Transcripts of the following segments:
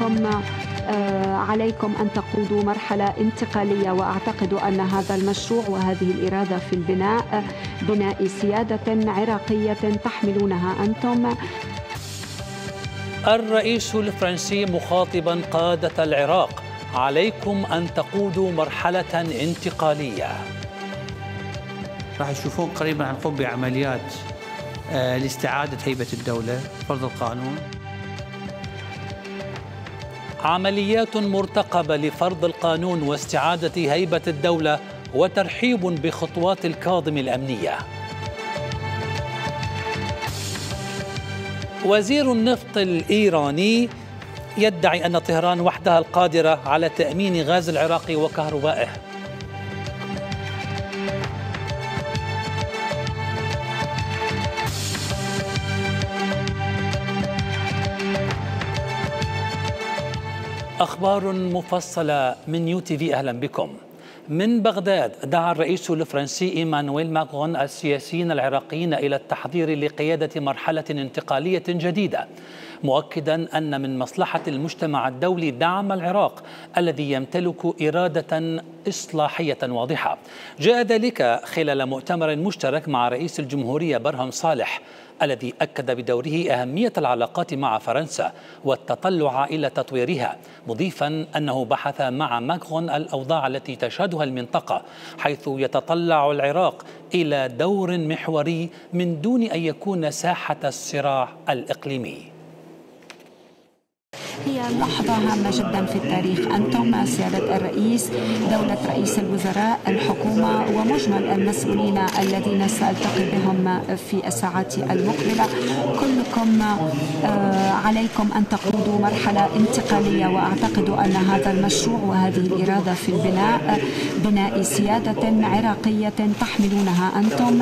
كلكم عليكم أن تقودوا مرحلة انتقالية، وأعتقد أن هذا المشروع وهذه الإرادة في البناء بناء سيادة عراقية تحملونها أنتم. الرئيس الفرنسي مخاطبا قادة العراق: عليكم أن تقودوا مرحلة انتقالية. راح تشوفون قريبا هنقوم بعمليات لاستعادة هيبة الدولة، فرض القانون. عمليات مرتقبة لفرض القانون واستعادة هيبة الدولة، وترحيب بخطوات الكاظمي الأمنية. وزير النفط الإيراني يدعي أن طهران وحدها القادرة على تأمين غاز العراق وكهربائه. أخبار مفصلة من UTV، أهلا بكم. من بغداد دعا الرئيس الفرنسي إيمانويل ماكرون السياسيين العراقيين إلى التحضير لقيادة مرحلة انتقالية جديدة، مؤكدا أن من مصلحة المجتمع الدولي دعم العراق الذي يمتلك إرادة إصلاحية واضحة. جاء ذلك خلال مؤتمر مشترك مع رئيس الجمهورية برهم صالح، الذي أكد بدوره أهمية العلاقات مع فرنسا والتطلع إلى تطويرها، مضيفا أنه بحث مع ماكرون الأوضاع التي تشهدها المنطقة، حيث يتطلع العراق إلى دور محوري من دون أن يكون ساحة الصراع الإقليمي. هي لحظة هامة جدا في التاريخ. أنتم سيادة الرئيس، دولة رئيس الوزراء، الحكومة ومجمل المسؤولين الذين سألتقي بهم في الساعات المقبلة، كلكم عليكم أن تقودوا مرحلة انتقالية، وأعتقد أن هذا المشروع وهذه الإرادة في البناء بناء سيادة عراقية تحملونها أنتم.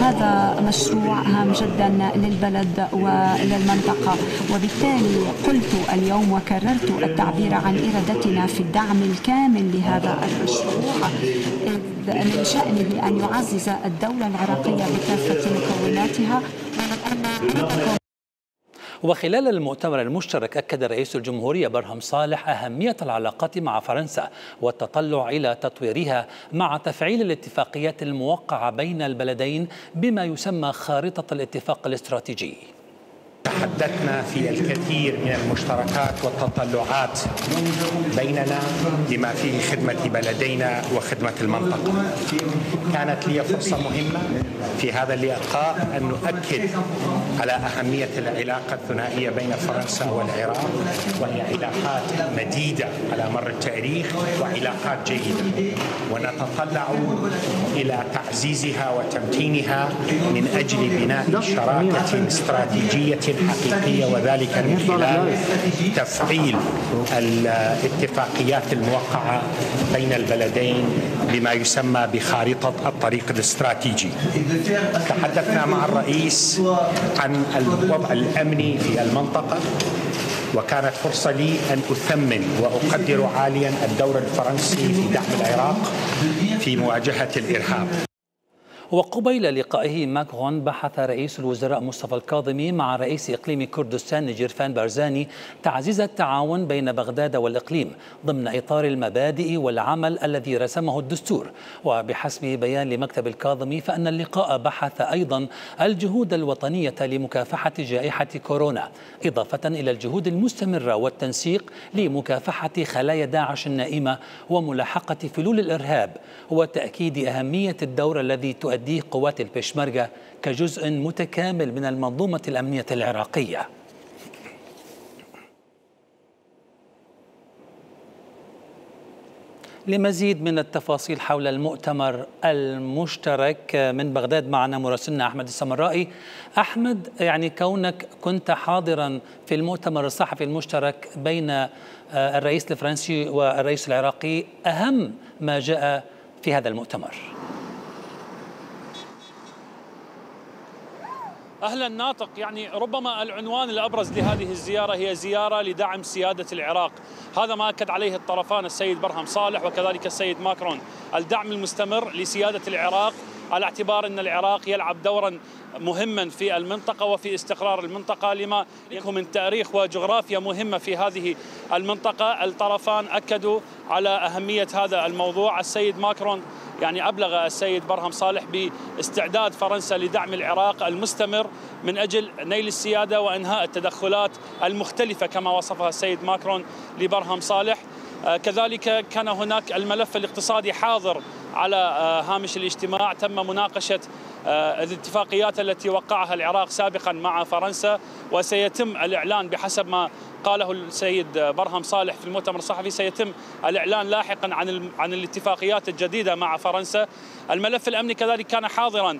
هذا مشروع هام جدا للبلد وللمنطقة، وبالتالي قلت اليوم وكررت التعبير عن إرادتنا في الدعم الكامل لهذا المشروع من شأنه أن يعزز الدولة العراقية بكافة مكوناتها. وخلال المؤتمر المشترك أكد رئيس الجمهورية برهم صالح أهمية العلاقات مع فرنسا والتطلع إلى تطويرها مع تفعيل الاتفاقيات الموقعة بين البلدين بما يسمى خارطة الاتفاق الاستراتيجي. تحدثنا في الكثير من المشتركات والتطلعات بيننا بما فيه خدمة بلدينا وخدمة المنطقة. كانت لي فرصة مهمة في هذا اللقاء أن نؤكد على أهمية العلاقة الثنائية بين فرنسا والعراق، وهي علاقات مديدة على مر التاريخ وعلاقات جيدة، ونتطلع إلى تعزيزها وتمكينها من أجل بناء شراكة استراتيجية حقيقية، وذلك من خلال تفعيل الاتفاقيات الموقعة بين البلدين بما يسمى بخارطة الطريق الاستراتيجي. تحدثنا مع الرئيس عن الوضع الأمني في المنطقة، وكانت فرصة لي أن أثمن وأقدر عاليا الدور الفرنسي في دعم العراق في مواجهة الإرهاب. وقبيل لقائه ماكرون بحث رئيس الوزراء مصطفى الكاظمي مع رئيس إقليم كردستان نجيرفان بارزاني تعزيز التعاون بين بغداد والإقليم ضمن إطار المبادئ والعمل الذي رسمه الدستور. وبحسب بيان لمكتب الكاظمي فإن اللقاء بحث أيضا الجهود الوطنية لمكافحة جائحة كورونا، إضافة إلى الجهود المستمرة والتنسيق لمكافحة خلايا داعش النائمة وملاحقة فلول الإرهاب، وتأكيد أهمية الدور الذي تؤديه قوات البشمركة كجزء متكامل من المنظومة الأمنية العراقية. لمزيد من التفاصيل حول المؤتمر المشترك من بغداد معنا مراسلنا أحمد السمرائي. أحمد، يعني كونك كنت حاضرا في المؤتمر الصحفي المشترك بين الرئيس الفرنسي والرئيس العراقي، أهم ما جاء في هذا المؤتمر؟ أهلا ناطق، يعني ربما العنوان الأبرز لهذه الزيارة هي زيارة لدعم سيادة العراق. هذا ما أكد عليه الطرفان السيد برهم صالح وكذلك السيد ماكرون، الدعم المستمر لسيادة العراق على اعتبار أن العراق يلعب دورا مهما في المنطقة وفي استقرار المنطقة لما له من تاريخ وجغرافيا مهمة في هذه المنطقة. الطرفان أكدوا على أهمية هذا الموضوع. السيد ماكرون يعني أبلغ السيد برهم صالح باستعداد فرنسا لدعم العراق المستمر من أجل نيل السيادة وإنهاء التدخلات المختلفة كما وصفها السيد ماكرون لبرهم صالح. كذلك كان هناك الملف الاقتصادي حاضر على هامش الاجتماع. تم مناقشة الاتفاقيات التي وقعها العراق سابقا مع فرنسا، وسيتم الإعلان بحسب ما قاله السيد برهم صالح في المؤتمر الصحفي، سيتم الإعلان لاحقا عن الاتفاقيات الجديدة مع فرنسا. الملف الأمني كذلك كان حاضرا،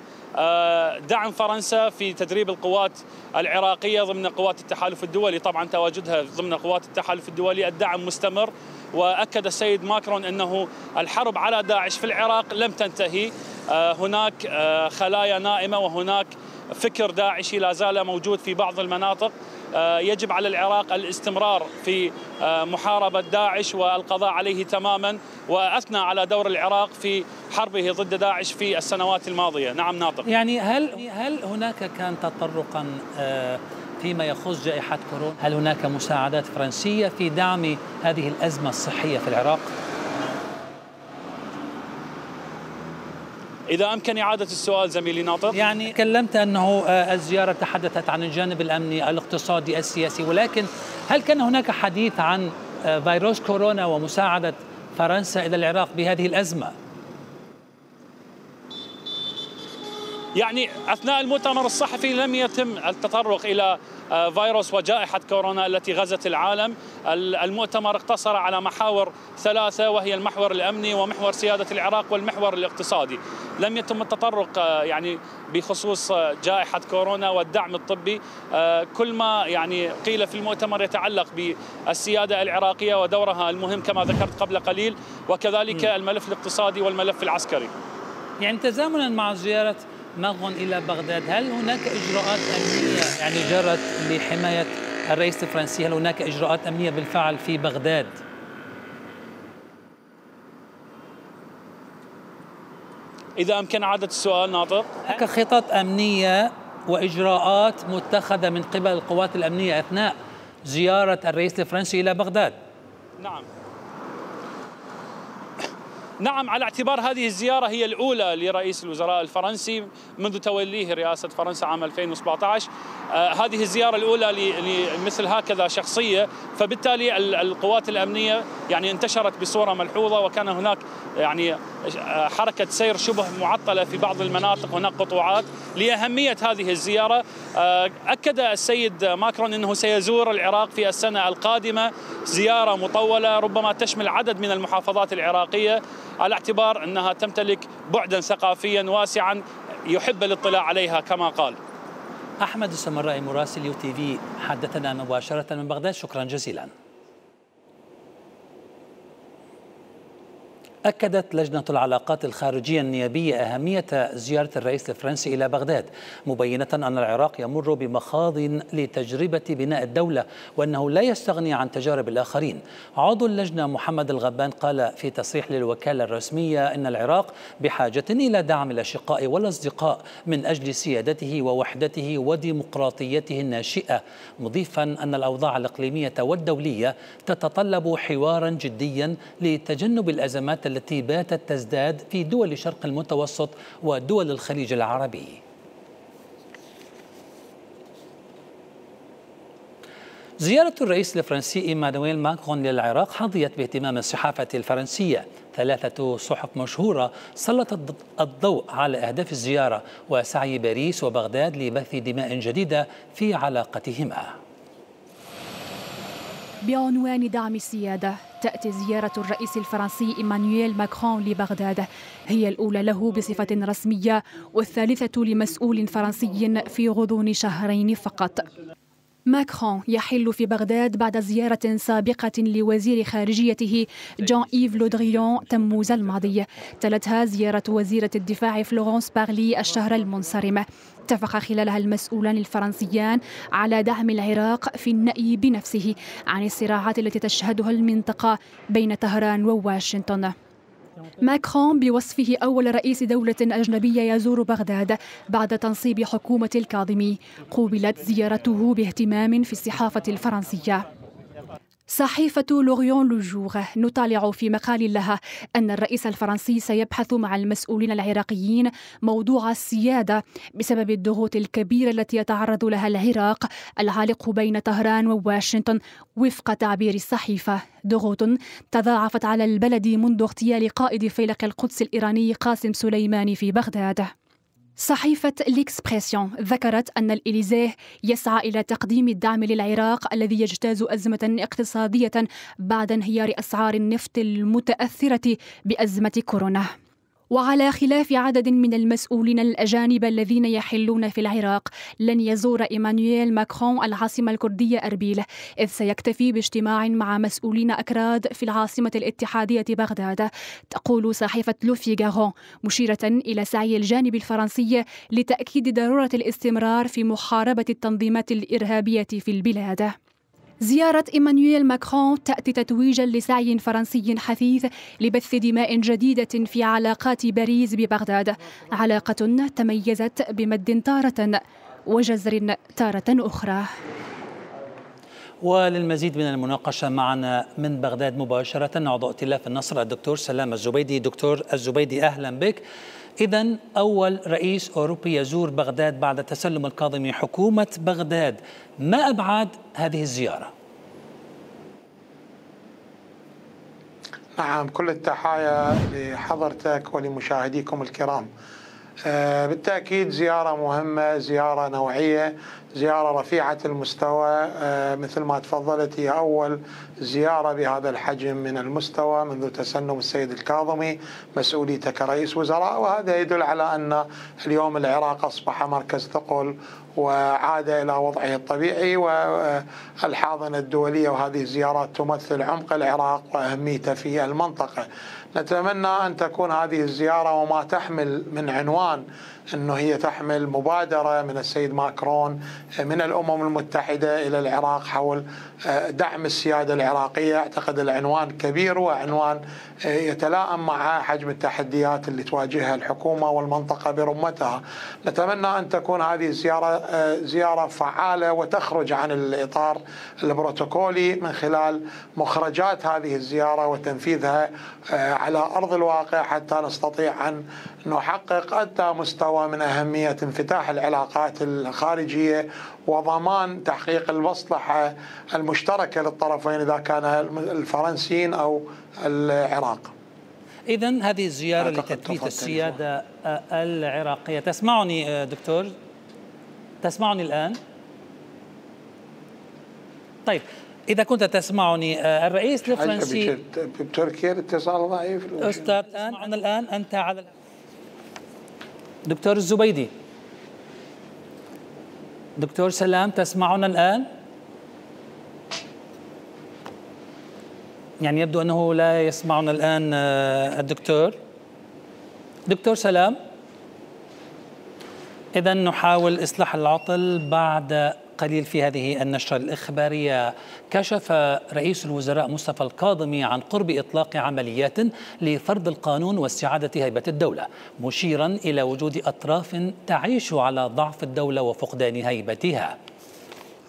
دعم فرنسا في تدريب القوات العراقية ضمن قوات التحالف الدولي، طبعا تواجدها ضمن قوات التحالف الدولي الدعم مستمر. وأكد السيد ماكرون أنه الحرب على داعش في العراق لم تنتهي، هناك خلايا نائمة وهناك فكر داعشي لا زال موجود في بعض المناطق. يجب على العراق الاستمرار في محاربة داعش والقضاء عليه تماما، وأثنى على دور العراق في حربه ضد داعش في السنوات الماضية. نعم ناطق. يعني هل هناك كان تطرقا فيما يخص جائحة كورونا؟ هل هناك مساعدات فرنسية في دعم هذه الأزمة الصحية في العراق؟ إذا أمكن إعادة السؤال زميلي ناطق. يعني تكلمت أنه الزيارة تحدثت عن الجانب الأمني الاقتصادي السياسي، ولكن هل كان هناك حديث عن فيروس كورونا ومساعدة فرنسا إلى العراق بهذه الأزمة؟ يعني أثناء المؤتمر الصحفي لم يتم التطرق إلى فيروس وجائحة كورونا التي غزت العالم. المؤتمر اقتصر على محاور ثلاثة، وهي المحور الأمني ومحور سيادة العراق والمحور الاقتصادي. لم يتم التطرق يعني بخصوص جائحة كورونا والدعم الطبي. كل ما يعني قيل في المؤتمر يتعلق بالسيادة العراقية ودورها المهم كما ذكرت قبل قليل، وكذلك الملف الاقتصادي والملف العسكري. يعني تزامنا مع زيارة ماكرون إلى بغداد، هل هناك إجراءات أمنية يعني جرت لحماية الرئيس الفرنسي؟ هل هناك إجراءات أمنية بالفعل في بغداد؟ إذا أمكن إعادة السؤال ناطق. هناك خطط أمنية وإجراءات متخذة من قبل القوات الأمنية أثناء زيارة الرئيس الفرنسي إلى بغداد؟ نعم، على اعتبار هذه الزيارة هي الأولى لرئيس الوزراء الفرنسي منذ توليه رئاسة فرنسا عام 2017. هذه الزيارة الأولى لمثل هكذا شخصية، فبالتالي القوات الأمنية يعني انتشرت بصورة ملحوظة، وكان هناك يعني حركة سير شبه معطلة في بعض المناطق، هناك قطوعات. لأهمية هذه الزيارة أكد السيد ماكرون أنه سيزور العراق في السنة القادمة زيارة مطولة ربما تشمل عدد من المحافظات العراقية، على اعتبار أنها تمتلك بعدا ثقافيا واسعا يحب الاطلاع عليها كما قال. أحمد السمرائي مراسل يو تي في حدثنا مباشرة من بغداد، شكرا جزيلا. أكدت لجنة العلاقات الخارجية النيابية أهمية زيارة الرئيس الفرنسي إلى بغداد، مبينة أن العراق يمر بمخاض لتجربة بناء الدولة، وأنه لا يستغني عن تجارب الآخرين. عضو اللجنة محمد الغبان قال في تصريح للوكالة الرسمية أن العراق بحاجة إلى دعم الأشقاء والأصدقاء من أجل سيادته ووحدته وديمقراطيته الناشئة، مضيفا أن الأوضاع الإقليمية والدولية تتطلب حوارا جديا لتجنب الأزمات التي باتت تزداد في دول شرق المتوسط ودول الخليج العربي. زيارة الرئيس الفرنسي إيمانويل ماكرون للعراق حظيت باهتمام الصحافة الفرنسية. 3 صحف مشهورة سلطت الضوء على أهداف الزيارة وسعي باريس وبغداد لبث دماء جديدة في علاقتهما. بعنوان دعم السيادة، تأتي زيارة الرئيس الفرنسي إيمانويل ماكرون لبغداد، هي الأولى له بصفة رسمية والثالثة لمسؤول فرنسي في غضون شهرين فقط. ماكرون يحل في بغداد بعد زيارة سابقة لوزير خارجيته جان إيف لو دريان تموز الماضي، تلتها زيارة وزيرة الدفاع فلورانس بارلي الشهر المنصرم. اتفق خلالها المسؤولان الفرنسيان على دعم العراق في النأي بنفسه عن الصراعات التي تشهدها المنطقة بين طهران وواشنطن. ماكرون بوصفه أول رئيس دولة أجنبية يزور بغداد بعد تنصيب حكومة الكاظمي، قوبلت زيارته باهتمام في الصحافة الفرنسية. صحيفة لوريون لوجور نطالع في مقال لها أن الرئيس الفرنسي سيبحث مع المسؤولين العراقيين موضوع السيادة بسبب الضغوط الكبيرة التي يتعرض لها العراق العالق بين طهران وواشنطن، وفق تعبير الصحيفة ضغوط تضاعفت على البلد منذ اغتيال قائد فيلق القدس الإيراني قاسم سليماني في بغداد. صحيفة ليكسبريسيون ذكرت أن الإليزيه يسعى إلى تقديم الدعم للعراق الذي يجتاز أزمة اقتصادية بعد انهيار أسعار النفط المتأثرة بأزمة كورونا. وعلى خلاف عدد من المسؤولين الأجانب الذين يحلون في العراق، لن يزور إيمانويل ماكرون العاصمة الكردية أربيل، إذ سيكتفي باجتماع مع مسؤولين أكراد في العاصمة الاتحادية بغداد. تقول صحيفة لو فيغارو مشيرة إلى سعي الجانب الفرنسي لتأكيد ضرورة الاستمرار في محاربة التنظيمات الإرهابية في البلاد. زيارة إيمانويل ماكرون تأتي تتويجا لسعي فرنسي حثيث لبث دماء جديدة في علاقات باريس ببغداد، علاقة تميزت بمد تارة وجزر تارة أخرى. وللمزيد من المناقشة معنا من بغداد مباشرة عضو ائتلاف النصر الدكتور سلام الزبيدي. دكتور الزبيدي أهلا بك. إذن أول رئيس أوروبي يزور بغداد بعد تسلم الكاظمي حكومة بغداد، ما أبعاد هذه الزيارة؟ نعم، كل التحايا لحضرتك ولمشاهديكم الكرام. بالتأكيد زيارة مهمة، زيارة نوعية، زيارة رفيعة المستوى. مثل ما تفضلت هي أول زيارة بهذا الحجم من المستوى منذ تسنم السيد الكاظمي مسؤوليته كرئيس وزراء، وهذا يدل على أن اليوم العراق أصبح مركز ثقل وعاد إلى وضعه الطبيعي والحاضنة الدولية، وهذه الزيارات تمثل عمق العراق وأهميته في المنطقة. نتمنى أن تكون هذه الزيارة وما تحمل من عنوان أنه هي تحمل مبادرة من السيد ماكرون من الأمم المتحدة إلى العراق حول دعم السيادة العراقية. أعتقد العنوان كبير وعنوان يتلائم مع حجم التحديات اللي تواجهها الحكومة والمنطقة برمتها. نتمنى أن تكون هذه الزيارة زيارة فعالة وتخرج عن الإطار البروتوكولي من خلال مخرجات هذه الزيارة وتنفيذها على أرض الواقع حتى نستطيع أن نحقق أدنى مستوى من أهمية انفتاح العلاقات الخارجية وضمان تحقيق المصلحة المشتركة للطرفين إذا كان الفرنسيين أو العراق. إذن هذه الزيارة لتثبيت السيادة العراقية. تسمعني دكتور؟ تسمعني الآن؟ طيب، إذا كنت تسمعني، الرئيس الفرنسي بتركيا الاتصال ضعيف. أستاذ الآن أنت على دكتور الزبيدي. دكتور سلام، تسمعنا الآن؟ يعني يبدو أنه لا يسمعنا الآن الدكتور. دكتور سلام، إذن نحاول إصلاح العطل بعد قليل. في هذه النشرة الإخبارية كشف رئيس الوزراء مصطفى الكاظمي عن قرب إطلاق عمليات لفرض القانون واستعادة هيبة الدولة، مشيرا إلى وجود أطراف تعيش على ضعف الدولة وفقدان هيبتها.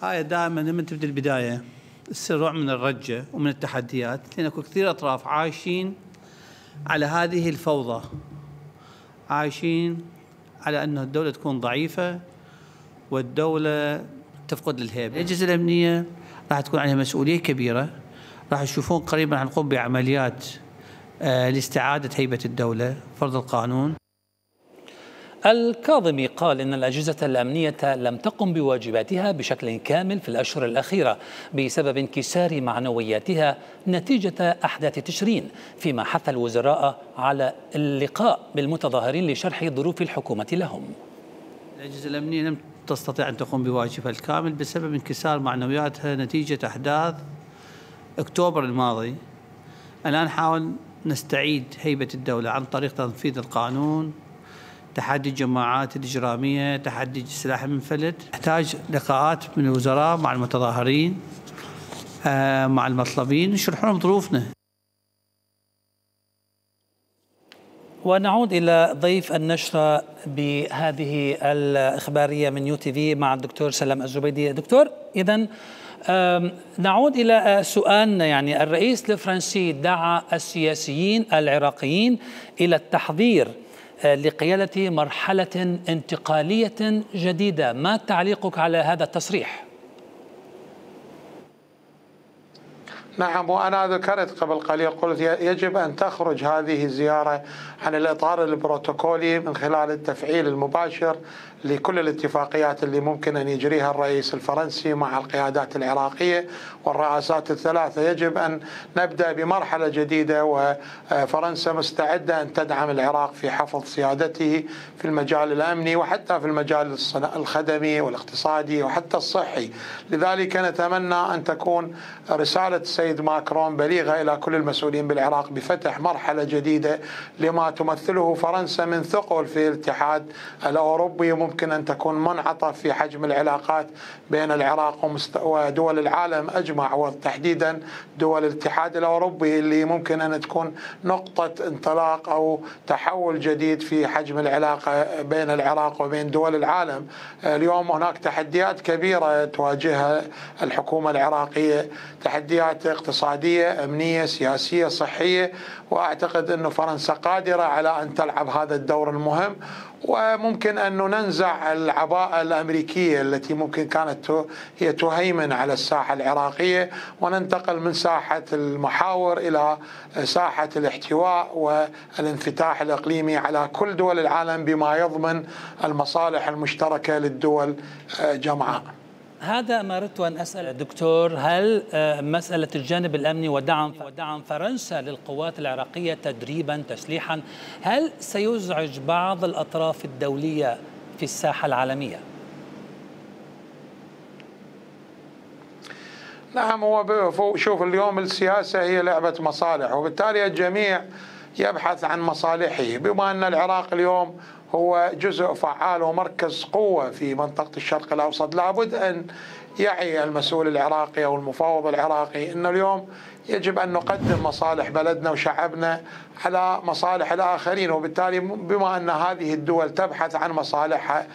هاي دائما لما تبدأ البداية السرع من الرجة ومن التحديات، لأن كثير أطراف عايشين على هذه الفوضى، عايشين على أن الدولة تكون ضعيفة والدولة تفقد الهيبة. الأجهزة الأمنية راح تكون عليها مسؤولية كبيرة، راح يشوفون قريبا عن قم بعمليات لاستعادة هيبة الدولة، فرض القانون. الكاظمي قال إن الأجهزة الأمنية لم تقم بواجباتها بشكل كامل في الأشهر الأخيرة بسبب انكسار معنوياتها نتيجة أحداث تشرين، فيما حث الوزراء على اللقاء بالمتظاهرين لشرح ظروف الحكومة لهم. الأجهزة الأمنية لم تستطيع أن تقوم بواجبها الكامل بسبب انكسار معنوياتها نتيجة أحداث أكتوبر الماضي. الآن نحاول نستعيد هيبة الدولة عن طريق تنفيذ القانون، تحدي الجماعات الإجرامية، تحدي السلاح المنفلت. نحتاج لقاءات من الوزراء مع المتظاهرين مع المطلبين، يشرحون ظروفنا. ونعود إلى ضيف النشرة بهذه الإخبارية من UTV مع الدكتور سلام الزبيدي. دكتور، إذن نعود إلى سؤالنا. يعني الرئيس الفرنسي دعا السياسيين العراقيين إلى التحضير لقيادة مرحلة انتقالية جديدة. ما تعليقك على هذا التصريح؟ نعم، وأنا ذكرت قبل قليل، قلت يجب أن تخرج هذه الزيارة عن الإطار البروتوكولي من خلال التفعيل المباشر لكل الاتفاقيات اللي ممكن أن يجريها الرئيس الفرنسي مع القيادات العراقية والرئاسات الثلاثة. يجب أن نبدأ بمرحلة جديدة، وفرنسا مستعدة أن تدعم العراق في حفظ سيادته في المجال الأمني وحتى في المجال الخدمي والاقتصادي وحتى الصحي. لذلك نتمنى أن تكون رسالة السيد ماكرون بليغة إلى كل المسؤولين بالعراق بفتح مرحلة جديدة لما تمثله فرنسا من ثقل في الاتحاد الأوروبي. ممكن أن تكون منعطف في حجم العلاقات بين العراق ودول العالم أجمع، وتحديدا دول الاتحاد الأوروبي اللي ممكن أن تكون نقطة انطلاق أو تحول جديد في حجم العلاقة بين العراق وبين دول العالم. اليوم هناك تحديات كبيرة تواجهها الحكومة العراقية، تحديات اقتصادية، أمنية، سياسية، صحية، وأعتقد أن فرنسا قادرة على أن تلعب هذا الدور المهم. وممكن أن ننزع العباءة الأمريكية التي ممكن كانت هي تهيمن على الساحة العراقية، وننتقل من ساحة المحاور إلى ساحة الاحتواء والانفتاح الإقليمي على كل دول العالم بما يضمن المصالح المشتركة للدول جمعاء. هذا ما أردت أن أسأل دكتور، هل مسألة الجانب الأمني ودعم فرنسا للقوات العراقية تدريبا تسليحا، هل سيزعج بعض الأطراف الدولية في الساحة العالمية؟ نعم، هو شوف، اليوم السياسة هي لعبة مصالح، وبالتالي الجميع يبحث عن مصالحه. بما أن العراق اليوم هو جزء فعال ومركز قوة في منطقة الشرق الأوسط، لابد أن يعي المسؤول العراقي أو المفاوض العراقي أن اليوم يجب أن نقدم مصالح بلدنا وشعبنا على مصالح الآخرين. وبالتالي بما أن هذه الدول تبحث عن مصالحها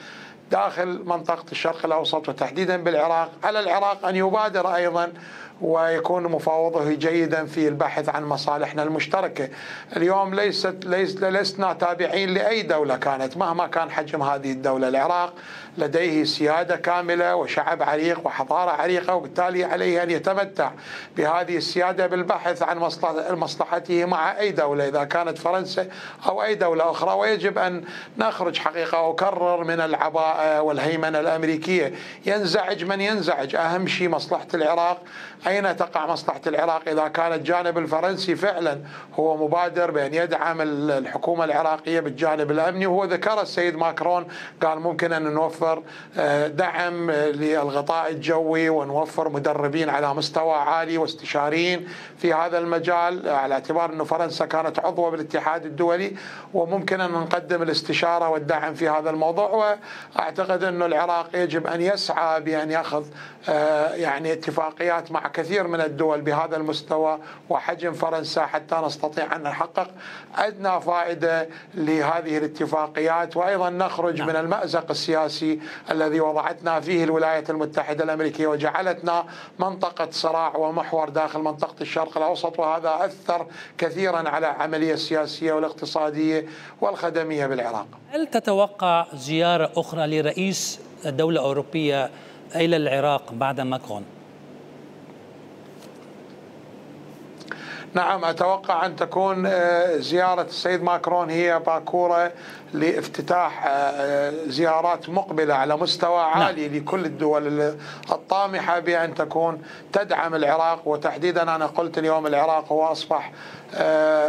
داخل منطقة الشرق الأوسط وتحديدا بالعراق، على العراق أن يبادر أيضا ويكون مفاوضه جيدا في البحث عن مصالحنا المشتركة. اليوم لسنا تابعين لأي دولة كانت مهما كان حجم هذه الدولة. العراق لديه سيادة كاملة وشعب عريق وحضارة عريقة، وبالتالي عليه أن يتمتع بهذه السيادة بالبحث عن مصلحته مع أي دولة إذا كانت فرنسا أو أي دولة أخرى. ويجب أن نخرج حقيقة وكرر من العباءة والهيمنة الأمريكية. ينزعج من ينزعج، أهم شيء مصلحة العراق. أين تقع مصلحة العراق إذا كان الجانب الفرنسي فعلا هو مبادر بأن يدعم الحكومة العراقية بالجانب الأمني؟ وهو ذكر السيد ماكرون، قال ممكن أن نوفر دعم للغطاء الجوي ونوفر مدربين على مستوى عالي واستشاريين في هذا المجال، على اعتبار أن فرنسا كانت عضوة بالاتحاد الدولي، وممكن أن نقدم الاستشارة والدعم في هذا الموضوع. وأعتقد أن العراق يجب أن يسعى بأن يأخذ يعني اتفاقيات مع كثير من الدول بهذا المستوى وحجم فرنسا حتى نستطيع أن نحقق أدنى فائدة لهذه الاتفاقيات، وأيضا نخرج من المأزق السياسي الذي وضعتنا فيه الولايات المتحدة الأمريكية وجعلتنا منطقة صراع ومحور داخل منطقة الشرق الأوسط، وهذا أثر كثيرا على العملية السياسية والاقتصادية والخدمية بالعراق. هل تتوقع زيارة أخرى لرئيس دولة أوروبية إلى العراق بعد ماكرون؟ نعم، أتوقع أن تكون زيارة السيد ماكرون هي باكورة لافتتاح زيارات مقبلة على مستوى عالي لكل الدول الطامحة بأن تكون تدعم العراق. وتحديدا أنا قلت اليوم العراق هو أصبح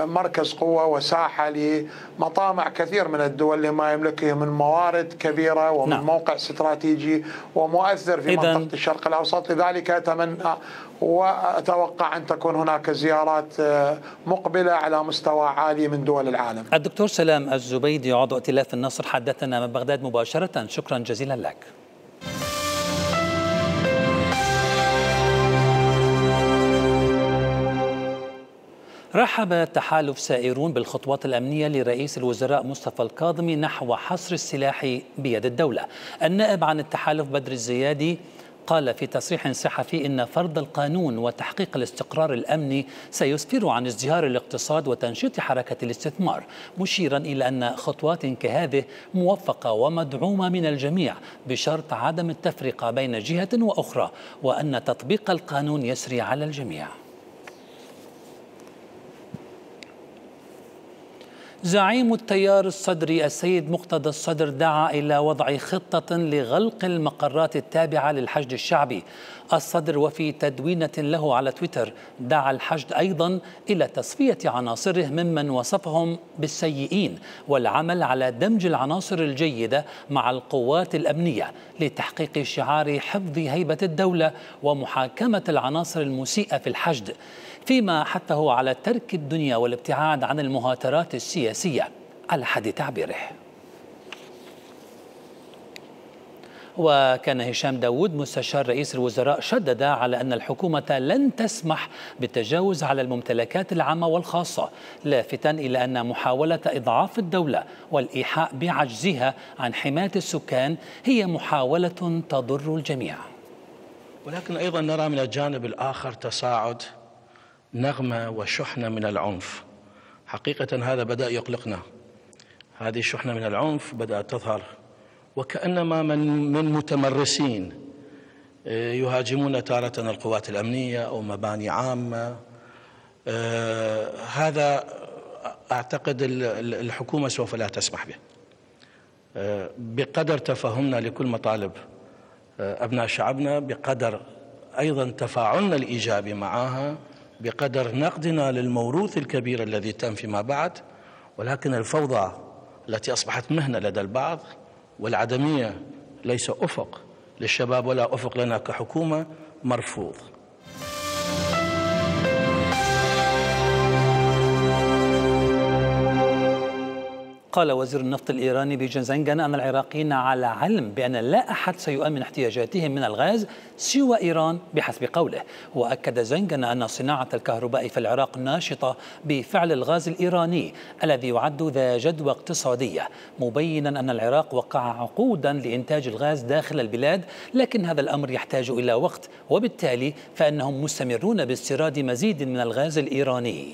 مركز قوة وساحة لمطامع كثير من الدول لما يملكه من موارد كبيرة ومن موقع استراتيجي ومؤثر في منطقة الشرق الأوسط. لذلك أتمنى وأتوقع أن تكون هناك زيارات مقبلة على مستوى عالي من دول العالم. الدكتور سلام الزبيدي عضو ائتلاف النصر حدثنا من بغداد مباشرة، شكرا جزيلا لك. رحب تحالف سائرون بالخطوات الأمنية لرئيس الوزراء مصطفى الكاظمي نحو حصر السلاح بيد الدولة. النائب عن التحالف بدر الزيادي قال في تصريح صحفي إن فرض القانون وتحقيق الاستقرار الأمني سيسفر عن ازدهار الاقتصاد وتنشيط حركة الاستثمار، مشيرا إلى أن خطوات كهذه موفقة ومدعومة من الجميع بشرط عدم التفرقة بين جهة وأخرى، وأن تطبيق القانون يسري على الجميع. زعيم التيار الصدري السيد مقتدى الصدر دعا إلى وضع خطة لغلق المقرات التابعة للحشد الشعبي. الصدر وفي تدوينة له على تويتر دعا الحشد أيضا إلى تصفية عناصره ممن وصفهم بالسيئين والعمل على دمج العناصر الجيدة مع القوات الأمنية لتحقيق شعار حفظ هيبة الدولة ومحاكمة العناصر المسيئة في الحشد، فيما حثه على ترك الدنيا والابتعاد عن المهاترات السياسية على حد تعبيره. وكان هشام داود مستشار رئيس الوزراء شدد على أن الحكومة لن تسمح بالتجاوز على الممتلكات العامة والخاصة، لافتا إلى أن محاولة إضعاف الدولة والإيحاء بعجزها عن حماية السكان هي محاولة تضر الجميع. ولكن أيضا نرى من الجانب الآخر تصاعد نغمة وشحنة من العنف. حقيقة هذا بدأ يقلقنا. هذه الشحنة من العنف بدأت تظهر وكأنما من متمرسين يهاجمون تارة القوات الأمنية أو مباني عامة. هذا أعتقد الحكومة سوف لا تسمح به. بقدر تفهمنا لكل مطالب أبناء شعبنا، بقدر أيضا تفاعلنا الإيجابي معها، بقدر نقدنا للموروث الكبير الذي تم فيما بعد، ولكن الفوضى التي أصبحت مهنة لدى البعض والعدمية ليس أفق للشباب ولا أفق لنا كحكومة مرفوض. قال وزير النفط الإيراني بجنزنجان أن العراقيين على علم بأن لا أحد سيؤمن احتياجاتهم من الغاز سوى إيران بحسب قوله. وأكد زنجان أن صناعة الكهرباء في العراق ناشطة بفعل الغاز الإيراني الذي يعد ذا جدوى اقتصادية، مبينا أن العراق وقع عقودا لإنتاج الغاز داخل البلاد، لكن هذا الأمر يحتاج إلى وقت، وبالتالي فإنهم مستمرون باستيراد مزيد من الغاز الإيراني.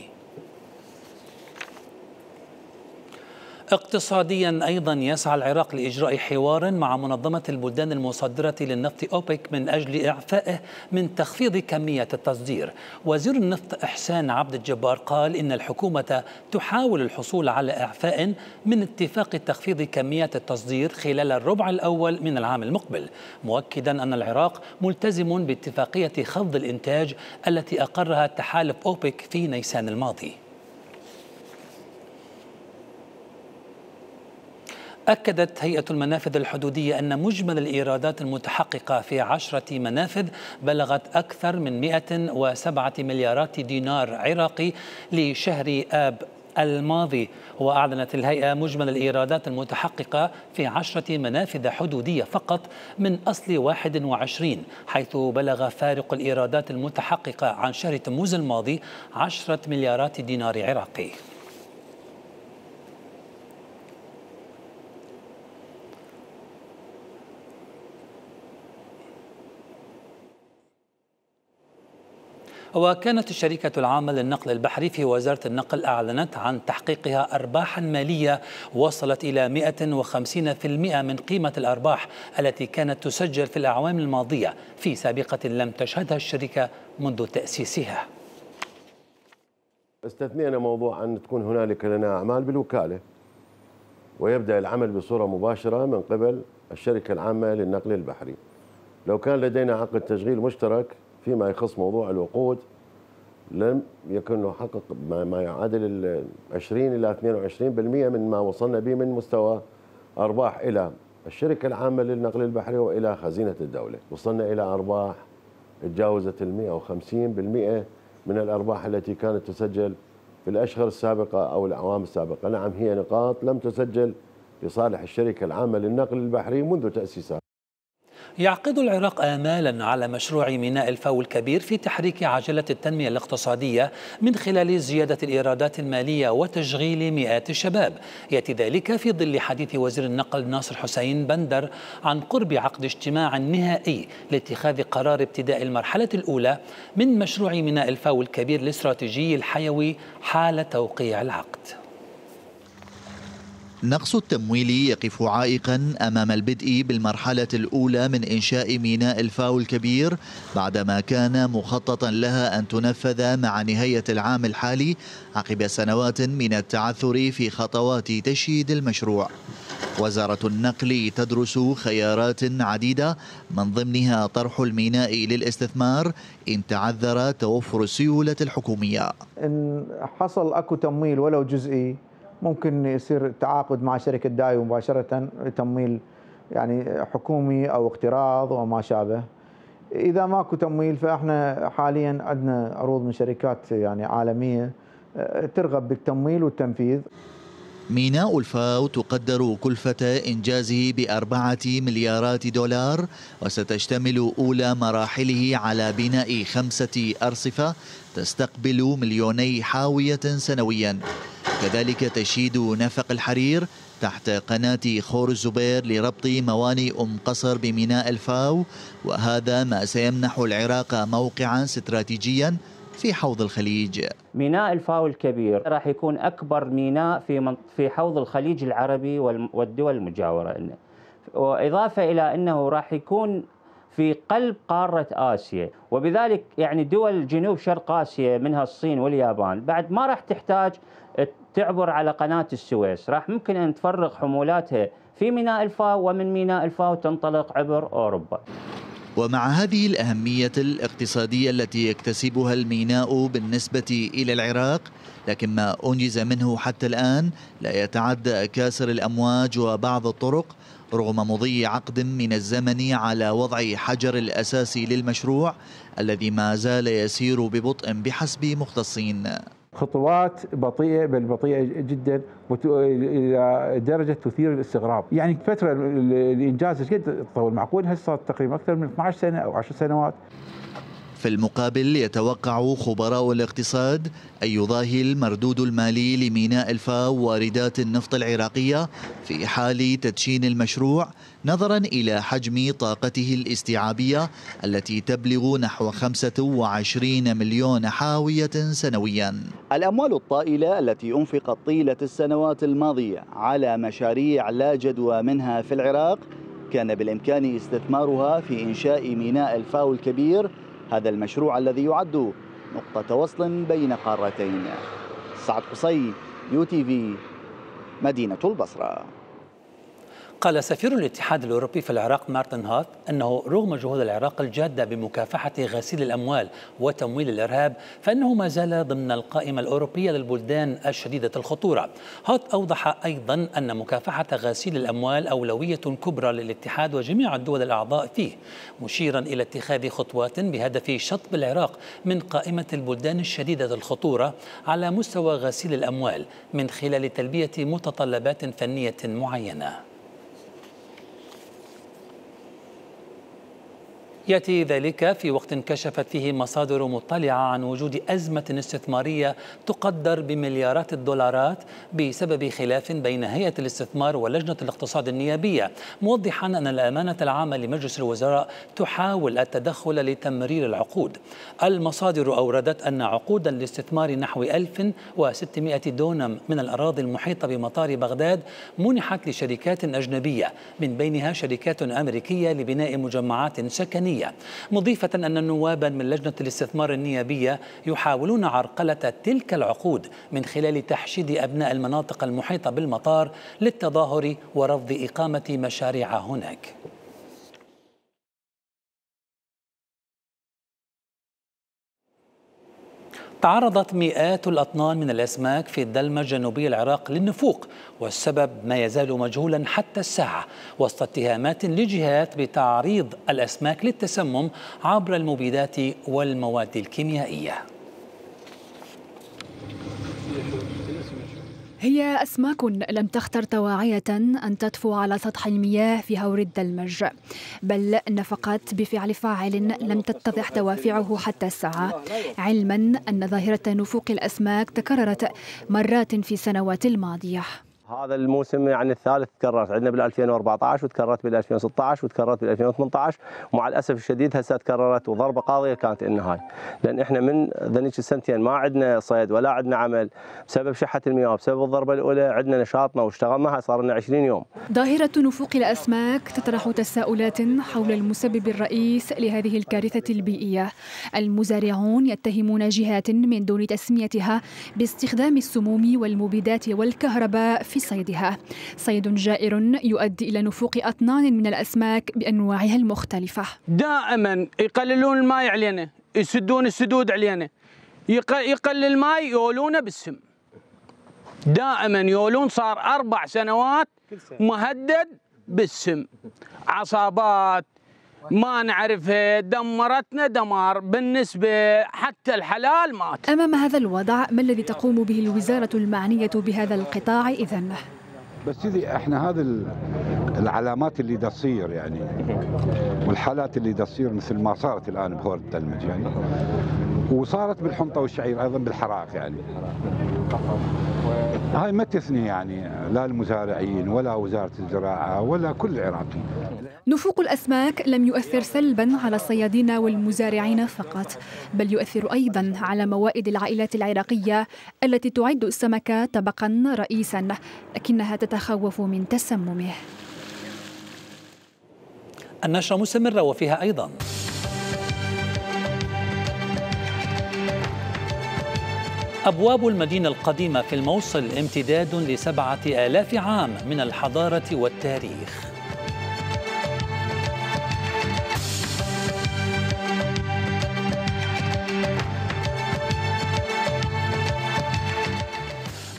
اقتصاديا أيضا يسعى العراق لإجراء حوار مع منظمة البلدان المصدرة للنفط أوبك من أجل إعفائه من تخفيض كمية التصدير. وزير النفط إحسان عبد الجبار قال إن الحكومة تحاول الحصول على إعفاء من اتفاق تخفيض كمية التصدير خلال الربع الأول من العام المقبل، مؤكدا أن العراق ملتزم باتفاقية خفض الإنتاج التي أقرها تحالف أوبك في نيسان الماضي. أكدت هيئة المنافذ الحدودية أن مجمل الإيرادات المتحققة في 10 منافذ بلغت أكثر من 107 مليارات دينار عراقي لشهر آب الماضي. وأعلنت الهيئة مجمل الإيرادات المتحققة في 10 منافذ حدودية فقط من أصل 21، حيث بلغ فارق الإيرادات المتحققة عن شهر تموز الماضي 10 مليارات دينار عراقي. وكانت الشركة العامة للنقل البحري في وزارة النقل أعلنت عن تحقيقها أرباحا مالية وصلت إلى 150% من قيمة الأرباح التي كانت تسجل في الأعوام الماضية في سابقة لم تشهدها الشركة منذ تأسيسها. استثنينا موضوع أن تكون هنالك لنا أعمال بالوكالة ويبدأ العمل بصورة مباشرة من قبل الشركة العامة للنقل البحري. لو كان لدينا عقد تشغيل مشترك فيما يخص موضوع الوقود لم يكن نحقق ما يعادل 20 إلى 22% من ما وصلنا به من مستوى أرباح إلى الشركة العامة للنقل البحري وإلى خزينة الدولة. وصلنا إلى أرباح تجاوزت 150% من الأرباح التي كانت تسجل في الأشهر السابقة أو الأعوام السابقة. نعم، هي نقاط لم تسجل لصالح الشركة العامة للنقل البحري منذ تأسيسها. يعقد العراق آمالا على مشروع ميناء الفاو الكبير في تحريك عجلة التنمية الاقتصادية من خلال زيادة الإيرادات المالية وتشغيل مئات الشباب. يأتي ذلك في ظل حديث وزير النقل ناصر حسين بندر عن قرب عقد اجتماع نهائي لاتخاذ قرار ابتداء المرحلة الأولى من مشروع ميناء الفاو الكبير الاستراتيجي الحيوي حال توقيع العقد. نقص التمويل يقف عائقا أمام البدء بالمرحلة الأولى من إنشاء ميناء الفاو الكبير بعدما كان مخططا لها أن تنفذ مع نهاية العام الحالي عقب سنوات من التعثر في خطوات تشييد المشروع. وزارة النقل تدرس خيارات عديدة من ضمنها طرح الميناء للاستثمار إن تعذر توفر السيولة الحكومية. إن حصل أكو تمويل ولو جزئي ممكن يصير تعاقد مع شركة دايو مباشرة تمويل يعني حكومي أو اقتراض وما شابه. إذا ماكو تمويل فإحنا حاليا عندنا عروض من شركات يعني عالمية ترغب بالتمويل والتنفيذ. ميناء الفاو تقدر كلفة إنجازه ب4 مليارات دولار وستشتمل أولى مراحله على بناء 5 أرصفة تستقبل 2,000,000 حاوية سنويا، كذلك تشييد نفق الحرير تحت قناة خور الزبير لربط موانئ قصر بميناء الفاو، وهذا ما سيمنح العراق موقعا استراتيجيا في حوض الخليج. ميناء الفاو الكبير راح يكون أكبر ميناء في حوض الخليج العربي والدول المجاورة، وإضافة إلى أنه راح يكون في قلب قارة آسيا، وبذلك يعني دول جنوب شرق آسيا منها الصين واليابان بعد ما راح تحتاج تعبر على قناة السويس، راح ممكن أن تفرغ حمولاتها في ميناء الفاو ومن ميناء الفاو تنطلق عبر أوروبا. ومع هذه الأهمية الاقتصادية التي يكتسبها الميناء بالنسبة إلى العراق، لكن ما أنجز منه حتى الآن لا يتعدى كاسر الأمواج وبعض الطرق رغم مضي عقد من الزمن على وضع حجر الأساس للمشروع الذي ما زال يسير ببطء بحسب مختصين. خطوات بطيئة بل بطيئة جدا إلى درجة تثير الاستغراب. يعني فترة الإنجاز قد تطول، معقول هسه تقريبا أكثر من 12 سنة أو 10 سنوات. في المقابل يتوقع خبراء الاقتصاد أن يضاهي المردود المالي لميناء الفاو واردات النفط العراقية في حال تدشين المشروع، نظرا إلى حجم طاقته الاستيعابية التي تبلغ نحو 25 مليون حاوية سنويا. الأموال الطائلة التي أنفقت طيلة السنوات الماضية على مشاريع لا جدوى منها في العراق كان بالإمكان استثمارها في إنشاء ميناء الفاو الكبير، هذا المشروع الذي يعد نقطة وصل بين قارتين. سعد قصي، UTV، مدينة البصرة. قال سفير الاتحاد الأوروبي في العراق مارتن هات أنه رغم جهود العراق الجادة بمكافحة غسيل الأموال وتمويل الإرهاب فإنه ما زال ضمن القائمة الأوروبية للبلدان الشديدة الخطورة. هات أوضح أيضا أن مكافحة غسيل الأموال أولوية كبرى للاتحاد وجميع الدول الأعضاء فيه، مشيرا إلى اتخاذ خطوات بهدف شطب العراق من قائمة البلدان الشديدة الخطورة على مستوى غسيل الأموال من خلال تلبية متطلبات فنية معينة. يأتي ذلك في وقت كشفت فيه مصادر مطلعة عن وجود أزمة استثمارية تقدر بمليارات الدولارات بسبب خلاف بين هيئة الاستثمار ولجنة الاقتصاد النيابية، موضحا أن الأمانة العامة لمجلس الوزراء تحاول التدخل لتمرير العقود. المصادر أوردت أن عقودا لاستثمار نحو 1600 دونم من الأراضي المحيطة بمطار بغداد منحت لشركات أجنبية، من بينها شركات أمريكية لبناء مجمعات سكنية، مضيفة أن نوابا من لجنة الاستثمار النيابية يحاولون عرقلة تلك العقود من خلال تحشيد أبناء المناطق المحيطة بالمطار للتظاهر ورفض إقامة مشاريع هناك. تعرضت مئات الأطنان من الأسماك في الدلمة الجنوبية العراق للنفوق، والسبب ما يزال مجهولا حتى الساعة، وسط اتهامات لجهات بتعريض الأسماك للتسمم عبر المبيدات والمواد الكيميائية. هي أسماك لم تختر طواعية أن تطفو على سطح المياه في هور الدلمج، بل نفقت بفعل فاعل لم تتضح دوافعه حتى الساعة، علما أن ظاهرة نفوق الأسماك تكررت مرات في السنوات الماضية. هذا الموسم يعني الثالث تكررت عندنا بال 2014 وتكررت بال 2016 وتكررت بال 2018 ومع الاسف الشديد هسه تكررت وضربه قاضيه كانت النهايه، لان احنا من ذنيك السنتين ما عندنا صيد ولا عندنا عمل بسبب شحه المياه، بسبب الضربه الاولى عندنا نشاطنا واشتغلنا هاي صار لنا 20 يوم. ظاهرة نفوق الأسماك تطرح تساؤلات حول المسبب الرئيس لهذه الكارثة البيئية. المزارعون يتهمون جهات من دون تسميتها باستخدام السموم والمبيدات والكهرباء في صيدها، صيد جائر يؤدي إلى نفوق أطنان من الأسماك بأنواعها المختلفة. دائما يقللون الماء علينا، يسدون السدود علينا، يقلل الماء يولونه بالسم، دائما يولون. صار 4 سنوات مهدد بالسم، عصابات ما نعرفها دمرتنا دمار، بالنسبة حتى الحلال مات. أمام هذا الوضع ما الذي تقوم به الوزارة المعنية بهذا القطاع إذن؟ بس سيدي احنا هذه العلامات اللي دا تصير يعني والحالات اللي دا تصير مثل ما صارت الآن بهور الدلمج يعني، وصارت بالحنطة والشعير أيضا بالحراق يعني، هاي ما تثني يعني لا المزارعين ولا وزارة الزراعة ولا كل العراقيين. نفوق الأسماك لم يؤثر سلباً على الصيادين والمزارعين فقط، بل يؤثر أيضاً على موائد العائلات العراقية التي تعد السمك طبقاً رئيساً، لكنها تتخوف من تسممه. النشرة مستمرة وفيها أيضاً أبواب المدينة القديمة في الموصل امتداد ل7,000 عام من الحضارة والتاريخ.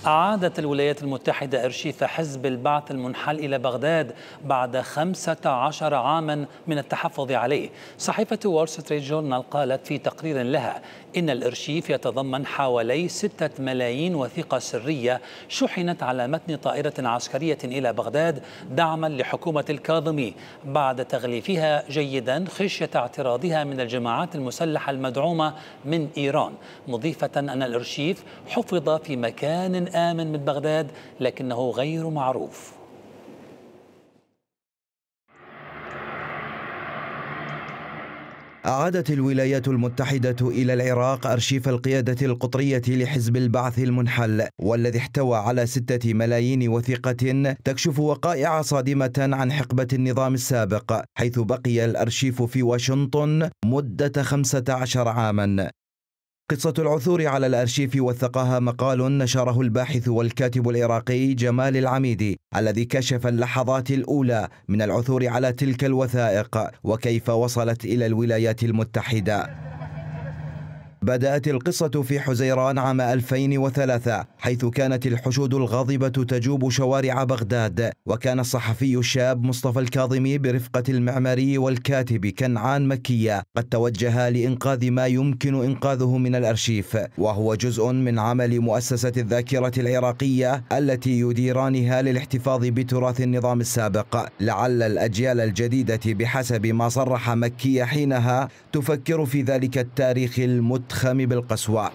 أعادت الولايات المتحدة أرشيف حزب البعث المنحل إلى بغداد بعد 15 عاما من التحفظ عليه. صحيفة وول ستريت جورنال قالت في تقرير لها إن الأرشيف يتضمن حوالي 6 ملايين وثيقة سرية شحنت على متن طائرة عسكرية إلى بغداد دعما لحكومة الكاظمي بعد تغليفها جيدا خشية اعتراضها من الجماعات المسلحة المدعومة من إيران، مضيفة أن الأرشيف حفظ في مكان آمن من بغداد لكنه غير معروف. أعادت الولايات المتحدة إلى العراق أرشيف القيادة القطرية لحزب البعث المنحل، والذي احتوى على 6 ملايين وثيقة تكشف وقائع صادمة عن حقبة النظام السابق، حيث بقي الأرشيف في واشنطن مدة 15 عاما. قصة العثور على الأرشيف وثقها مقال نشره الباحث والكاتب العراقي جمال العميدي، الذي كشف اللحظات الأولى من العثور على تلك الوثائق وكيف وصلت إلى الولايات المتحدة. بدأت القصة في حزيران عام 2003، حيث كانت الحشود الغاضبة تجوب شوارع بغداد، وكان الصحفي الشاب مصطفى الكاظمي برفقة المعماري والكاتب كنعان مكية قد توجها لإنقاذ ما يمكن إنقاذه من الأرشيف، وهو جزء من عمل مؤسسة الذاكرة العراقية التي يديرانها للاحتفاظ بتراث النظام السابق، لعل الأجيال الجديدة بحسب ما صرح مكية حينها تفكر في ذلك التاريخ المتخم بالقسوة.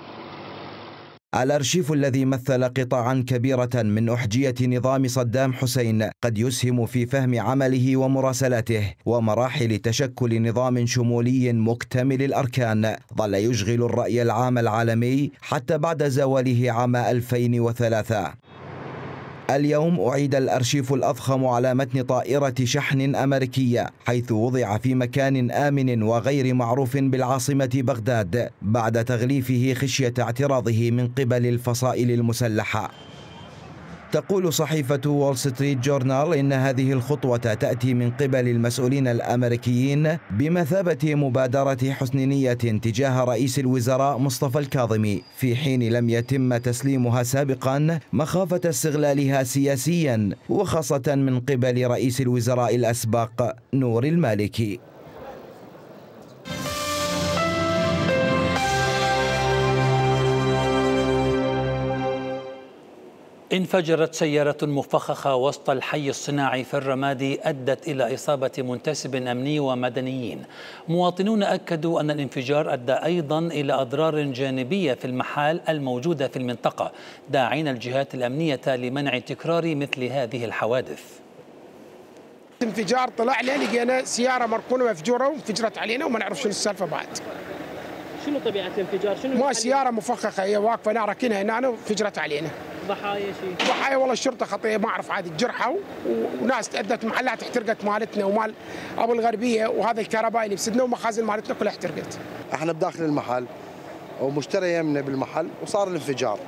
الأرشيف الذي مثل قطاعا كبيرة من أحجية نظام صدام حسين قد يسهم في فهم عمله ومراسلاته ومراحل تشكل نظام شمولي مكتمل الأركان ظل يشغل الرأي العام العالمي حتى بعد زواله عام 2003. اليوم أعيد الأرشيف الأضخم على متن طائرة شحن أمريكية، حيث وضع في مكان آمن وغير معروف بالعاصمة بغداد بعد تغليفه خشية اعتراضه من قبل الفصائل المسلحة. تقول صحيفة وول ستريت جورنال إن هذه الخطوة تأتي من قبل المسؤولين الأمريكيين بمثابة مبادرة حسن نية تجاه رئيس الوزراء مصطفى الكاظمي، في حين لم يتم تسليمها سابقا مخافة استغلالها سياسيا، وخاصة من قبل رئيس الوزراء الأسبق نور المالكي. انفجرت سيارة مفخخة وسط الحي الصناعي في الرمادي أدت إلى إصابة منتسب أمني ومدنيين. مواطنون أكدوا أن الانفجار أدى أيضا إلى أضرار جانبية في المحال الموجودة في المنطقة، داعين الجهات الأمنية لمنع تكرار مثل هذه الحوادث. انفجار طلع لي لقينا سيارة مركونة مفجورة وانفجرت علينا وما نعرف شنو السالفة بعد. شنو طبيعة الانفجار؟ شنو ما سيارة مفخخة هي واقفة انا راكنها هنا وانفجرت علينا. ضحايا شيء؟ ضحايا والله الشرطة خطية ما اعرف عاد جرحوا وناس تأدت محلات احترقت مالتنا ومال ابو الغربية وهذا الكهربائي اللي بسدنا ومخازن مالتنا كلها احترقت. احنا بداخل المحل ومشتري يمنا بالمحل وصار الانفجار.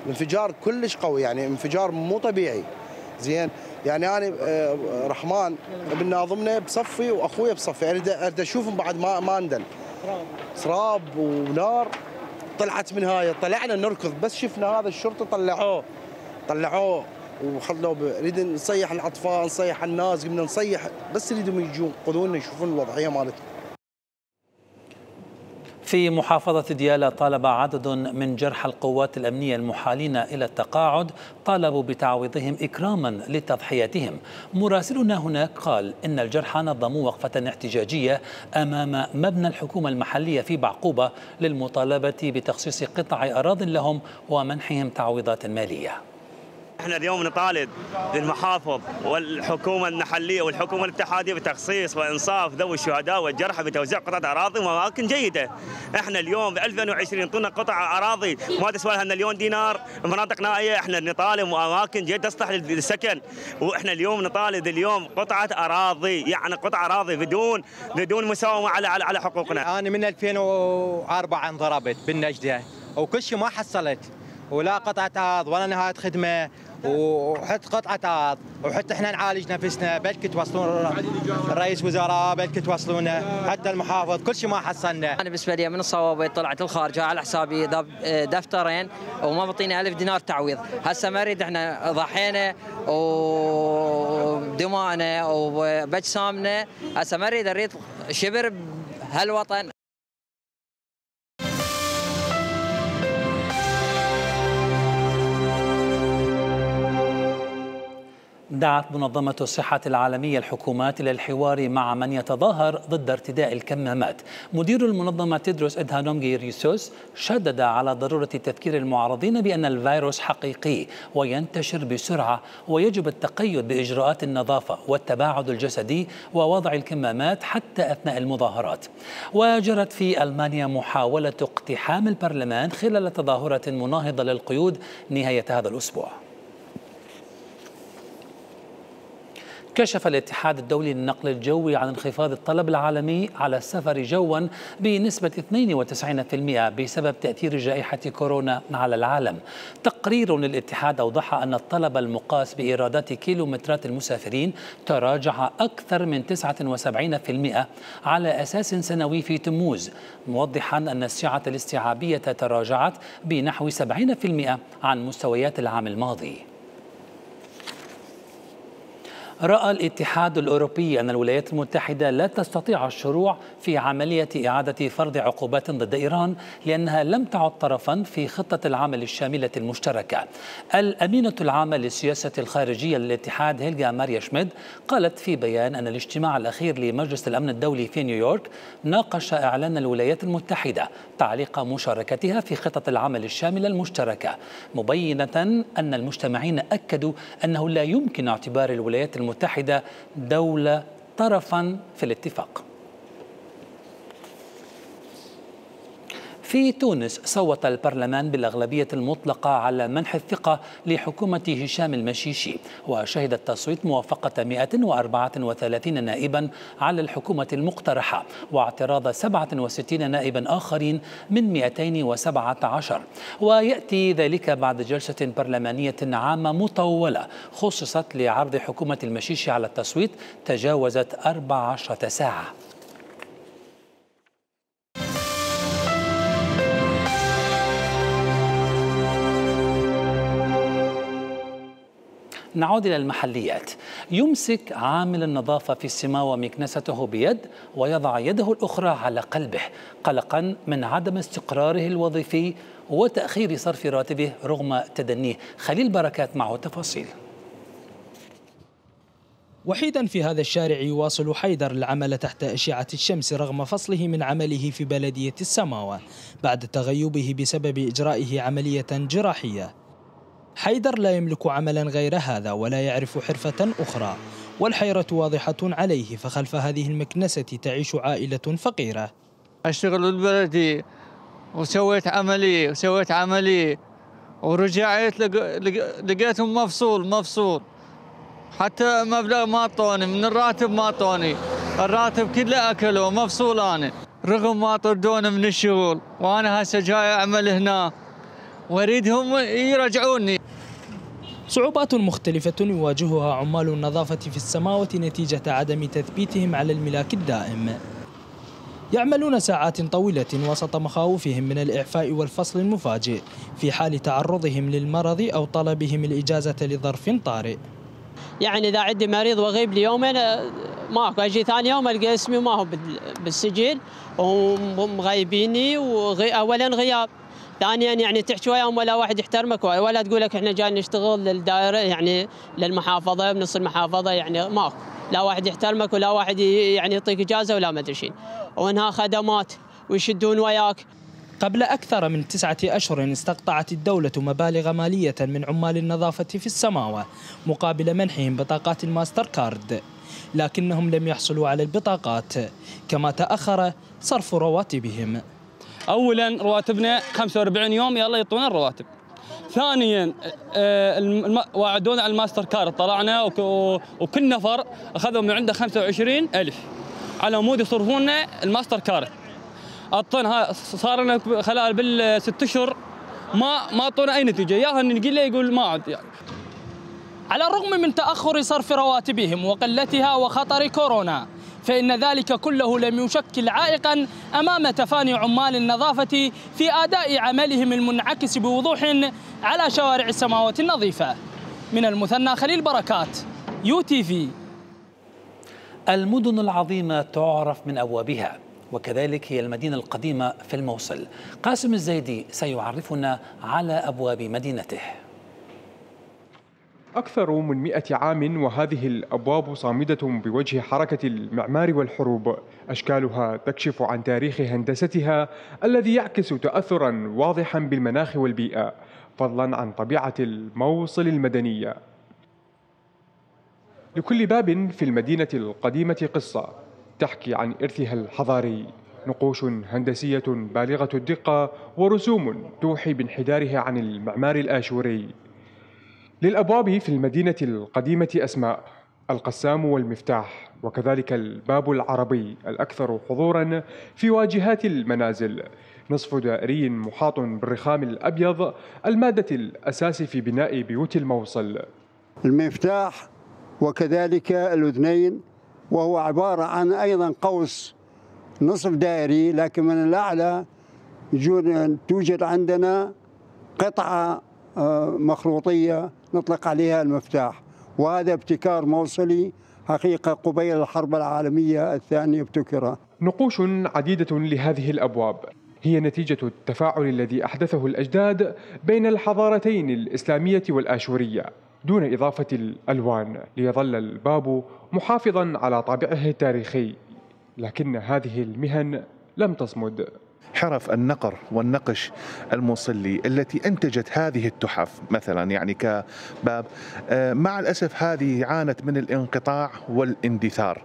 الانفجار كلش قوي يعني انفجار مو طبيعي. زين يعني انا رحمن ابن ناظمنا بصفي واخويا بصفي اريد اشوفهم بعد ما اندل. سراب ونار طلعت من هاي طلعنا نركض بس شفنا هذا الشرطه طلعوه وخلوه نريد نصيح الاطفال نصيح الناس قمنا نصيح بس يريدوا يجون ينقذونا يشوفون الوضعيه مالتهم. في محافظة ديالى طالب عدد من جرحى القوات الأمنية المحالين إلى التقاعد طالبوا بتعويضهم إكراما لتضحياتهم. مراسلنا هناك قال إن الجرحى نظموا وقفة احتجاجية أمام مبنى الحكومة المحلية في بعقوبة للمطالبة بتخصيص قطع أراضٍ لهم ومنحهم تعويضات مالية. احنا اليوم نطالب المحافظ والحكومه المحليه والحكومه الاتحاديه بتخصيص وانصاف ذوي الشهداء والجرحى بتوزيع قطع اراضي واماكن جيده. احنا اليوم ب 2020 يعطونا قطع اراضي ما تسوى لها مليون دينار مناطق نائيه، احنا نطالب اماكن جيده تصلح للسكن، واحنا اليوم نطالب اليوم قطعه اراضي يعني قطع اراضي بدون مساومه على حقوقنا. انا من 2004 انضربت بالنجده وكل شيء ما حصلت ولا قطعة أرض ولا نهاية خدمة وحتى قطعة أرض وحتى احنا نعالج نفسنا بلكي توصلون الرئيس وزراء بلكي توصلونا حتى المحافظ كل شيء ما حصلنا. أنا بالنسبة لي من الصوابي طلعت الخارجة على حسابي دفترين وما بطينا 1000 دينار تعويض. هسه ما نريد احنا ضحينا ودماءنا وبجسامنا هسه ما نريد شبر بهالوطن. دعت منظمة الصحة العالمية الحكومات إلى الحوار مع من يتظاهر ضد ارتداء الكمامات. مدير المنظمة تيدروس أدهانوم غيبرييسوس شدد على ضرورة تذكير المعارضين بأن الفيروس حقيقي وينتشر بسرعة ويجب التقيد بإجراءات النظافة والتباعد الجسدي ووضع الكمامات حتى أثناء المظاهرات. وجرت في ألمانيا محاولة اقتحام البرلمان خلال تظاهرة مناهضة للقيود نهاية هذا الأسبوع. كشف الاتحاد الدولي للنقل الجوي عن انخفاض الطلب العالمي على السفر جوا بنسبة 92% بسبب تأثير جائحة كورونا على العالم. تقرير للاتحاد أوضح أن الطلب المقاس بإيرادات كيلومترات المسافرين تراجع أكثر من 79% على أساس سنوي في تموز، موضحا أن السعة الاستيعابية تراجعت بنحو 70% عن مستويات العام الماضي. رأى الاتحاد الأوروبي أن الولايات المتحدة لا تستطيع الشروع في عملية إعادة فرض عقوبات ضد إيران لأنها لم تعد طرفا في خطة العمل الشاملة المشتركة. الأمينة العامة للسياسة الخارجية للاتحاد هيلغا ماريا شميد قالت في بيان أن الاجتماع الأخير لمجلس الأمن الدولي في نيويورك ناقش إعلان الولايات المتحدة تعليق مشاركتها في خطة العمل الشاملة المشتركة، مبينة أن المجتمعين أكدوا أنه لا يمكن اعتبار الولايات المتحدة دولة طرفا في الاتفاق. في تونس صوت البرلمان بالأغلبية المطلقة على منح الثقة لحكومة هشام المشيشي، وشهد التصويت موافقة 134 نائبا على الحكومة المقترحة واعتراض 67 نائبا آخرين من 217، ويأتي ذلك بعد جلسة برلمانية عامة مطولة خصصت لعرض حكومة المشيشي على التصويت تجاوزت 14 ساعة. نعود إلى المحليات. يمسك عامل النظافة في السماوة مكنسته بيد ويضع يده الأخرى على قلبه قلقا من عدم استقراره الوظيفي وتأخير صرف راتبه رغم تدنيه. خليل بركات معه تفاصيل. وحيدا في هذا الشارع يواصل حيدر العمل تحت أشعة الشمس رغم فصله من عمله في بلدية السماوة بعد تغيبه بسبب إجرائه عملية جراحية. حيدر لا يملك عملا غير هذا ولا يعرف حرفة أخرى، والحيرة واضحة عليه، فخلف هذه المكنسة تعيش عائلة فقيرة. أشتغل بالبلدي وسويت عملي ورجعت لقيتهم مفصول حتى مبلغ ما اعطوني، من الراتب ما اعطوني، الراتب كله اكلوا، مفصول انا رغم ما طردوني من الشغل، وانا هسه جاي اعمل هنا واريدهم يرجعوني. صعوبات مختلفة يواجهها عمال النظافة في السماوة نتيجة عدم تثبيتهم على الملاك الدائم. يعملون ساعات طويلة وسط مخاوفهم من الإعفاء والفصل المفاجئ في حال تعرضهم للمرض أو طلبهم الإجازة لظرف طارئ. يعني إذا عندي مريض وغيب لي يومين ماكو، أجي ثاني يوم ألقى اسمي ما هو بالسجل ومغيبيني، أولا غياب، ثانيا يعني تحكي وياهم ولا واحد يحترمك ولا تقول لك احنا جاي نشتغل للدائرة يعني للمحافظة بنص المحافظة، يعني ماكو، لا واحد يحترمك ولا واحد يعني يعطيك إجازة ولا ما أدري شيء، وإنها خدمات ويشدون وياك. قبل أكثر من 9 أشهر استقطعت الدولة مبالغ مالية من عمال النظافة في السماوة مقابل منحهم بطاقات الماستر كارد، لكنهم لم يحصلوا على البطاقات، كما تأخر صرف رواتبهم. أولا رواتبنا 45 يوم يلا يعطونا الرواتب. ثانيا وعدونا على الماستر كارد، طلعنا وكل نفر أخذوا من عنده 25,000 على مود يصرفون لنا الماستر كارد. أعطونا صار لنا خلال بال6 أشهر ما أعطونا أي نتيجة، ياها نقول له يقول ما عاد يعني. على الرغم من تأخر صرف رواتبهم وقلتها وخطر كورونا، فإن ذلك كله لم يشكل عائقا أمام تفاني عمال النظافة في أداء عملهم المنعكس بوضوح على شوارع السماوات النظيفة. من المثنى خليل بركات، UTV. المدن العظيمة تعرف من أبوابها، وكذلك هي المدينة القديمة في الموصل. قاسم الزيدي سيعرفنا على أبواب مدينته. أكثر من 100 عام وهذه الأبواب صامدة بوجه حركة المعمار والحروب. أشكالها تكشف عن تاريخ هندستها الذي يعكس تأثرا واضحا بالمناخ والبيئة، فضلا عن طبيعة الموصل المدنية. لكل باب في المدينة القديمة قصة تحكي عن إرثها الحضاري، نقوش هندسية بالغة الدقة ورسوم توحي بانحدارها عن المعمار الآشوري. للأبواب في المدينة القديمة أسماء: القسام والمفتاح، وكذلك الباب العربي الأكثر حضوراً في واجهات المنازل، نصف دائري محاط بالرخام الأبيض، المادة الأساس في بناء بيوت الموصل. المفتاح وكذلك الأذنين، وهو عبارة عن أيضا قوس نصف دائري، لكن من الأعلى توجد عندنا قطعة مخروطية نطلق عليها المفتاح، وهذا ابتكار موصلي حقيقة قبيل الحرب العالمية الثانية ابتكر. نقوش عديدة لهذه الأبواب هي نتيجة التفاعل الذي أحدثه الأجداد بين الحضارتين الإسلامية والآشورية دون إضافة الألوان، ليظل الباب محافظا على طابعه التاريخي. لكن هذه المهن لم تصمد. حرف النقر والنقش الموصلي التي أنتجت هذه التحف مثلا يعني كباب، مع الأسف هذه عانت من الانقطاع والاندثار.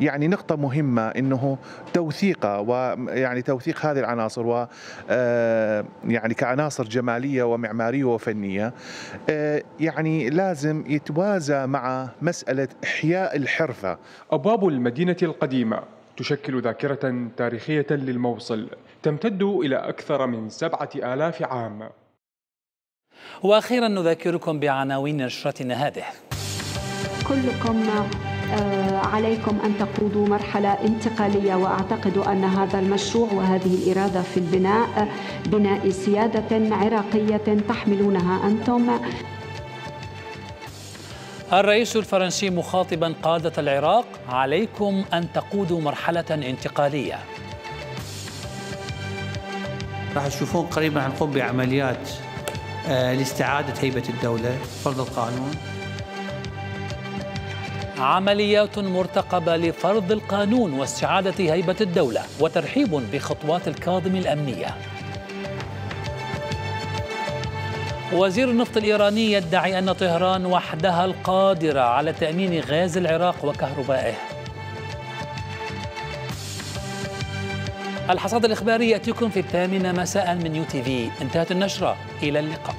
يعني نقطة مهمة إنه توثيقها، ويعني توثيق هذه العناصر و يعني كعناصر جمالية ومعمارية وفنية يعني لازم يتوازى مع مسألة إحياء الحرفة. أبواب المدينة القديمة تشكل ذاكرة تاريخية للموصل تمتد إلى أكثر من 7,000 عام. وأخيرا نذكركم بعناوين نشرتنا هذه. كلكم عليكم أن تقودوا مرحلة انتقالية، وأعتقد أن هذا المشروع وهذه الإرادة في البناء بناء سيادة عراقية تحملونها أنتم. الرئيس الفرنسي مخاطبا قادة العراق: عليكم أن تقودوا مرحلة انتقالية. راح تشوفون قريبا حنقوم بعمليات لاستعادة هيبة الدولة، فرض القانون. عمليات مرتقبة لفرض القانون واستعادة هيبة الدولة، وترحيب بخطوات الكاظم الأمنية. وزير النفط الإيراني يدعي أن طهران وحدها القادرة على تأمين غاز العراق وكهربائه. الحصاد الإخباري يأتيكم في 8 مساء من UTV. انتهت النشرة، إلى اللقاء.